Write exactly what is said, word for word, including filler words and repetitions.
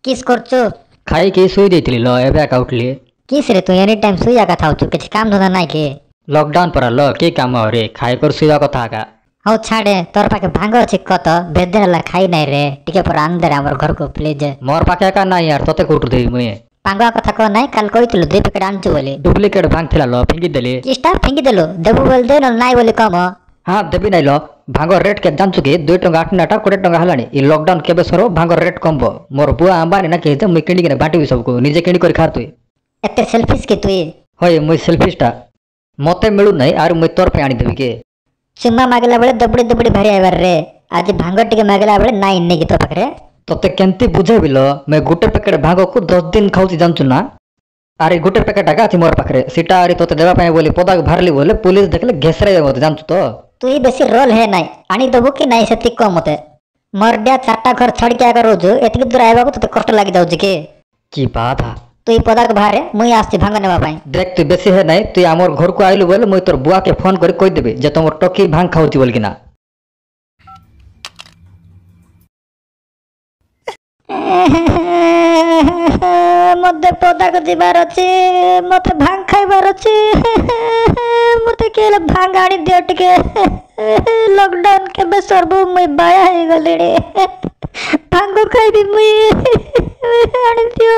କିସ୍ କରୁଛୁ? ଖାଇକି ଶୋଇ ଦେଇଥିଲି ଲ, ଏବେ ଏକା ଉଠିଲି। କିସ୍ ରେ, ତୁ ଏନି ଟାଇମ୍ ଶୋଇ ଏକା ଥାଉଛୁ, କିଛି କାମ ଧନ୍ଦା ନାଇଁ କି? ଲକଡାଉନ ପରା ଲ, କି କାମ ରେ, ଖାଇ କରି ଶୋଇବା କଥା ଏକା। ହଉ ଛାଡ଼େ, ତୋର ପାଖେ ଭାଙ୍ଗ ଅଛି କତ? ବେଦିନ ହେଲା ଖାଇ ନାଇଁ ରେ, ଟିକେ ପରେ ଆଣିଦେ ଆମର ଘରକୁ ପ୍ଲିଜ। ମୋର ପାଖେ ଏକା ନାଇଁ ୟାର, ତତେ କୋଉଠୁ ଦେବି ମୁଇଁ? ପାଙ୍ଗୁଆ କଥା କହ ନାଇଁ, କାଲି କହିଥିଲୁ ଦୁଇ ପ୍ୟାକେଟ ଆଣିଛୁ ବୋଲି। ଡୁପ୍ଲିକେଟ ଭାଙ୍ଗ ଥିଲା ଲ, ଫିଙ୍ଗିଦେଲି। କିସଟା ଫିଙ୍ଗିଦେଲୁ? ଦେବୁ ବୋଲି ଦେ, ନହେଲେ ନାଇଁ ବୋଲି କମ। ହଁ ଦେବି ନାଇଁ ଲ। ଭାଙ୍ଗ ରେଟ୍ କେତେ ଜାଣିଛୁ କି? ଦୁଇ ଟଙ୍କା ଆଠ ନାଟା କୋଡ଼ିଏ ଟଙ୍କା ହେଲାଣି। ଏ ଲକଡାଉନ କେବେ ସରିବ, ଭାଙ୍ଗ ରେଟ୍ କମବ, ମୋର ବୁଆ ଆମ୍ବାନୀ ନା କି ଯେ ମୁଇଁ କିଣିକିନା ବାଣ୍ଟିବି ସବୁକୁ? ନିଜେ କିଣି କରି ଖା ତୁଇ। ଏତେ ସେଲଫିସ୍ କି ତୁଇ? ହଇ, ମୁଇଁ ସେଲଫିସଟା। ମତେ ମିଳୁନାହିଁ ଆରୁ ମୁଇଁ ତୋର ପାଇଁ ଆଣିଦେବି କି? ଚୁମା ମାଗିଲା ବେଳେ ଦବୁଡ଼ି ଦବୁଡ଼ି ଭାରି ଆଇବାର ରେ, ଆଜି ଭାଙ୍ଗ ଟିକେ ମାଗିଲା ବେଳେ ନାଇଁ ନେଇକି ତୋ ପାଖରେ। ତତେ କେମିତି ବୁଝେଇବି ଲ, ମୁଇଁ ଗୋଟେ ପ୍ୟାକେଟ ଭାଙ୍ଗକୁ ଦଶ ଦିନ ଖାଉଛି ଜାଣିଛୁ ନା? ଆରେ ଗୋଟେ ପ୍ୟାକେଟ ଏକା ଅଛି ମୋର ପାଖରେ, ସେଟା ଆରି ତତେ ଦେବା ପାଇଁ ବୋଲି ପଦାକୁ ବାହାରିଲି ବୋଲେ ପୋଲିସ ଦେଖିଲେ ଘେସରାଇବେ ମତେ, ଜାଣିଛୁ ତ? ତୁଇ ବେଶୀ ରୋଲ ହେ ନାଇଁ, ଆଣିଦବୁ କି ନାଇଁ ସେତିକି କହ ମତେ। ମରଡିଆ ଚାରିଟା ଘର ଛାଡ଼ିକି ଆଗ ରହୁଛୁ, ଏତିକି ଦୂର ଆଇବାକୁ ତତେ କଷ୍ଟ ଲାଗିଯାଉଛି କି? କି ବାଧା। ତୁଇ ପଦାକୁ ବାହାରେ, ମୁଇଁ ଆସୁଛି ଭାଙ୍ଗ ନେବା ପାଇଁ। ଦେଖ, ତୁଇ ବେଶୀ ହେ ନାଇଁ। ତୁଇ ଆମର ଘରକୁ ଆଇଲୁ ବୋଲେ ମୁଇଁ ତୋର ବୁଆକେ ଫୋନ କରି କହିଦେବି ଯେ ତମର ଟକି ଭାଙ୍ଗ ଖାଉଛି ବୋଲିକିନା। ମତେ ପଦାକୁ ଯିବାର ଅଛି, ମତେ ଭାଙ୍ଗ ଖାଇବାର ଅଛି, ମତେ କିଏ ହେଲେ ଭାଙ୍ଗ ଆଣି ଦିଅ ଟିକେ। ଲକଡାଉନ କେବେ ସରିବ, ମୁଇଁ ବାୟା ହେଇଗଲିଣି, ଭାଙ୍ଗ ଖାଇବି ମୁଇଁ, ଆଣିଦିଅ।